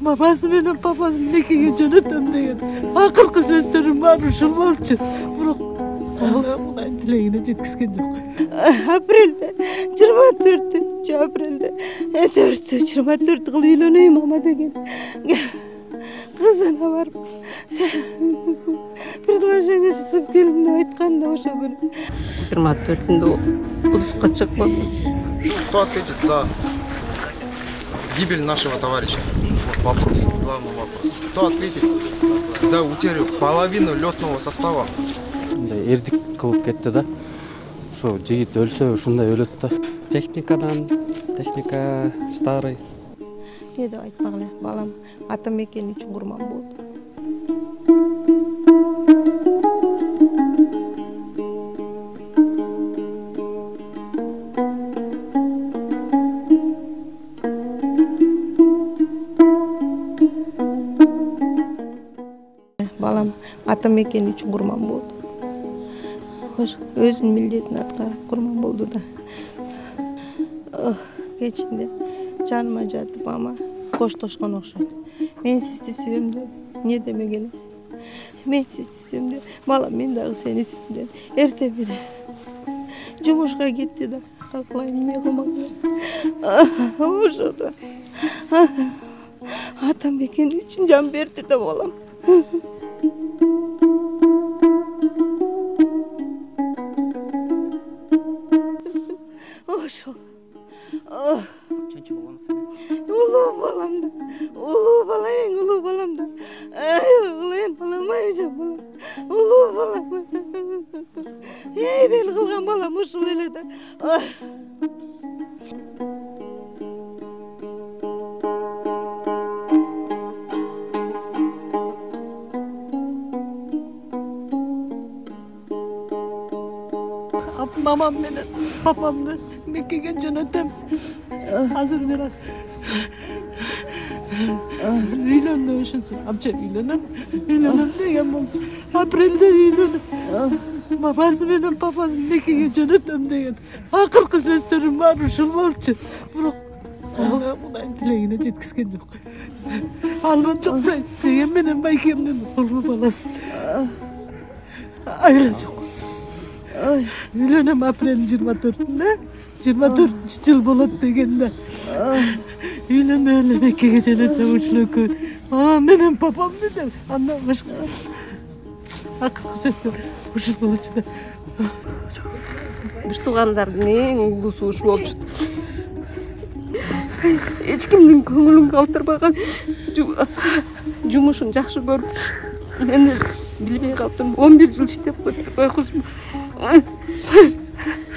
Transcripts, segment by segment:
Мамасы менен папасы мекеге жөнөтөм деген акыркы сөздөрүм баары ушул болчу. Бирок Алла тилегине жеткизген жок. Апрелде 24 апрелде 24 кылып үйлөнөйм мама деген кызына барып предложение жасап келдим деп айтканда ошол күнү 24-ндө отпускка чыккан. Кто ответит за гибель нашего товарища? Вот вопрос, главный вопрос. Кто ответит за утерю половины летного состава? Эрдик кылып кетти да. Ошо жигит өлсө ушундай өлөт да. Техника старый. Не деп айтпак эле, балам ата мекени үчүн курман болду. Балам ата мекени үчүн курман болду. Өзүнүн милдетин аткарып курман болду да. Кечинде жаныма жатып мама коштошкон окшойт. Мен сизди сүйөм деп, эмне демегеле. Мен сизди сүйөм деп, балам мен дагы сени сүйөм деп. Эртең менен жумушка кетти да, калайын эмне кылмак. Ошодо ата мекени үчүн жан берди да балам. Ошол. Канча балаңыз? Улуу балам да. Улуу бала, эң улуу балам да. Ай, балам, ай жан балам. Улуу балам. Бел кылган балам ушул эле да. Мамам менен папамды мекеге жөнөтөм. Азыр мирас. Үйлөнүп ушунсу. Амча үйлөнөм деген болчу. Апрелде үйлөнүп. Мамасы менен папасы мекеге жөнөтөм деген акыркы сөздөрүм баары ушул болчу. Бирок Алла тилегине жеткизген жок. Албан жок деген менен байкемдин улуу баласы. Айла жок. Үйлөнөм апрелдин 24-ндө, 24-жыл болот дегенде. Үйлөнбөй эле мекеге жөнөтөм ушул экөө. Мамам менен папамды деп, андан башка акыркы сөздөр ушул болчу да. Биз туугандардын эң улуусу ушул болчу. Эч кимдин көңүлүн калтырбаган, жумушун жакшы көрүп, мен билбей калдым. 11 жыл иштеп койгузмун.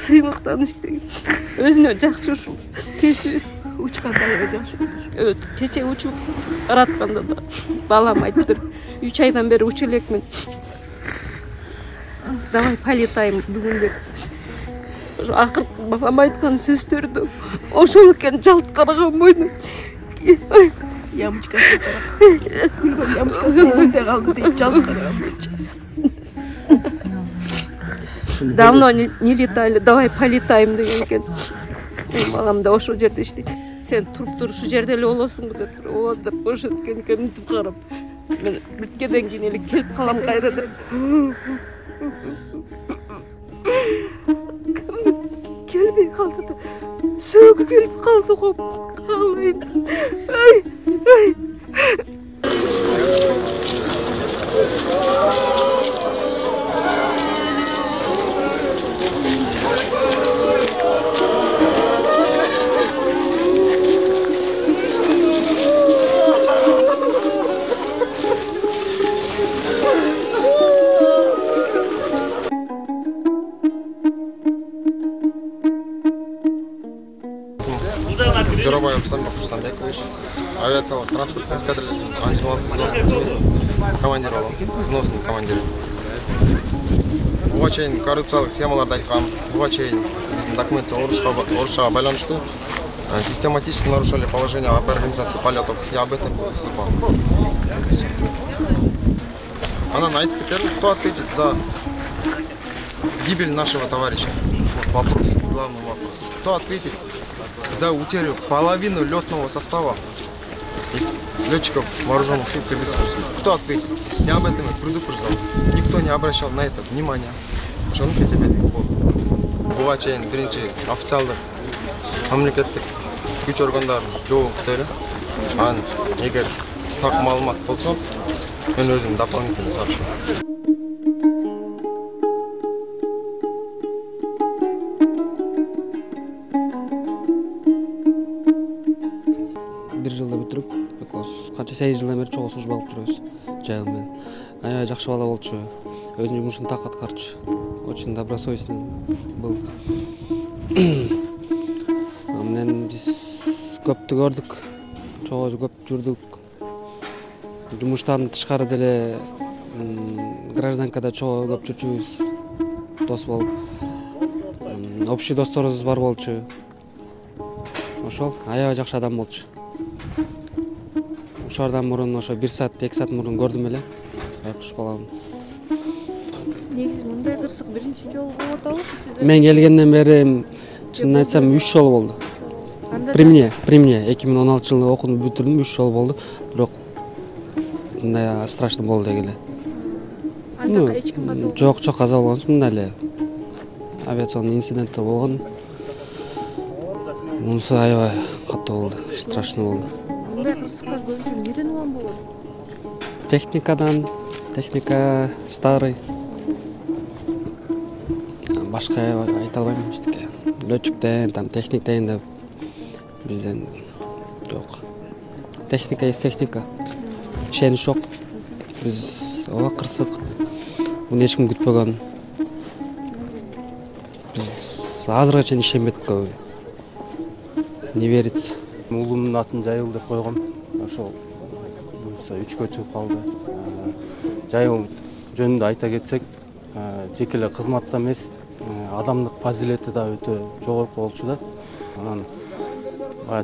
Сыймыктан иштеген. Өзүнө жакшы ушул кесип Учканда жакшы. Кече учуп баратканда да балам айтты. 3 айдан бери учуп элекмин. Давай полетайм бүгүн деп. Акыр бабам айткан сөздөрдү ошол экен, жалт караган бойдон. Ямочкасы тарап. Күлгөн ямочкасы эсимде калды дейт, жалт караган болчу. Давно не летали, давай полетаем деген экен. Балам да ошол жерде иштейт. Сен туруп тур ушул жерде эле болосуңбу деп, ооба деп бошоткен экен, мынтип карап. Мен бүткөндөн кийин эле келип калам кайра деп. Келбей калды да. Сөөгү келип калды го. Калайын. Ай. Жорабаев Рустамбек Рустамбекович, авиациялық транспорттық эскадрильясының Ан-26 взводной командировал, взводный командир. Буга чейин коррупциялык схемаларды айткам, буга чейин биздин документте орусчага байланыштуу систематически нарушали положение об организации полетов. Я об этом выступал. Анан айтып кетели, кто ответит за гибель нашего товарища? Вот вопрос, главный вопрос. Кто ответит за утерю половины летного состава? летчиков вооруженных сил Кыргызской Республики. Кто ответит? Я об этом предупреждал. Никто не обращал на это внимания. Ошону кезепетип болду. Буга чейин биринчи официалдык мамлекеттик күч органдарынын жоопта эле. Анан эгер так маалымат болсо, мен өзүм дополнительно сообщу. Бир жылда бүтүрүп, канча 8 жылдан бери чогуу служба кылып жүрөбүз жайыл менен. Аябай жакшы бала болчу. Өзүнүн жумушун так аткарчу. Очень добросовестный был. Менен биз көптү көрдүк. Чогуу көп жүрдүк. Жумуштан тышкары деле гражданкада чогуу көп жүрчүбүз. Дос болуп. Общий досторубуз бар болчу. Ошол аябай жакшы адам болчу. Ошордан мурун ошо 1 саат, 2 саат мурун көрдүм эле. Айкуш балам. Негизи мындай кырсык биринчи жолу болуп атабы сизде? Мен келгенден бери чынын айтсам 3 жол болду. При мне 2016-жылы окууну бүтүрдүм, 3 жол болду. Бирок мындай страшный болду дегеле. Анда эч ким каза болбоду? Жок, каза болгон эмес, мындай эле авиационный инциденттер болгон. Мунусу аябай катуу болду, страшный болду. Мындай кырсыктар көбүнчө эмнеден улам болот? Техникадан, техника старый. Башка айта албайм эчтеке. Летчиктен, там техниктен деп бизден жок. Техника есть техника. Ишенич жок. Биз ооба кырсык. Муну эч ким күтпөгөн. Биз азырга чейин ишенбедик көбү. Не верится. Уулумдун атын Жайыл деп койгом. Ошол буюрса 3кө чыгып калды. Жайыл жөнүндө айта кетсек, жеке эле кызматта эмес, адамдык фазилети да өтө жогорку болчу да. Анан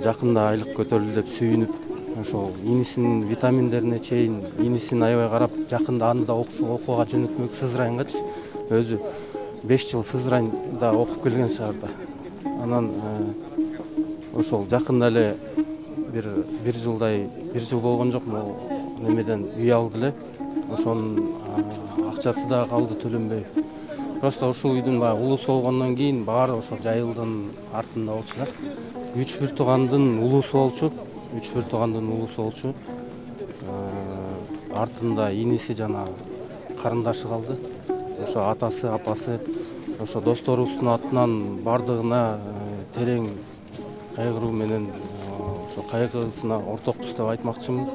жакында айлык көтөрүлдү деп сүйүнүп, ошол инисинин витаминдерине чейин инисин аябай карап, жакында аны да окууга жөнөтмөк Сызрайынгачы. Өзү 5 жыл Сызрайда окуп келген шаарда. Анан ошол жакында эле бир жыл болгон жок, могу немеден үй алды эле. Ошонун акчасы да калды төлөнбөй. Просто ушул үйдүн баягы улуусу болгондон кийин баары ошол Жайылдын артында болчу да. 3 туугандын улуусу болчу. Артында иниси жана карындашы калды. Ошо атасы, апасы, ошо досторубуздун атынан бардыгына терең кайгыруу менен ошо кайгысына ортокпуз деп айтмакчымын.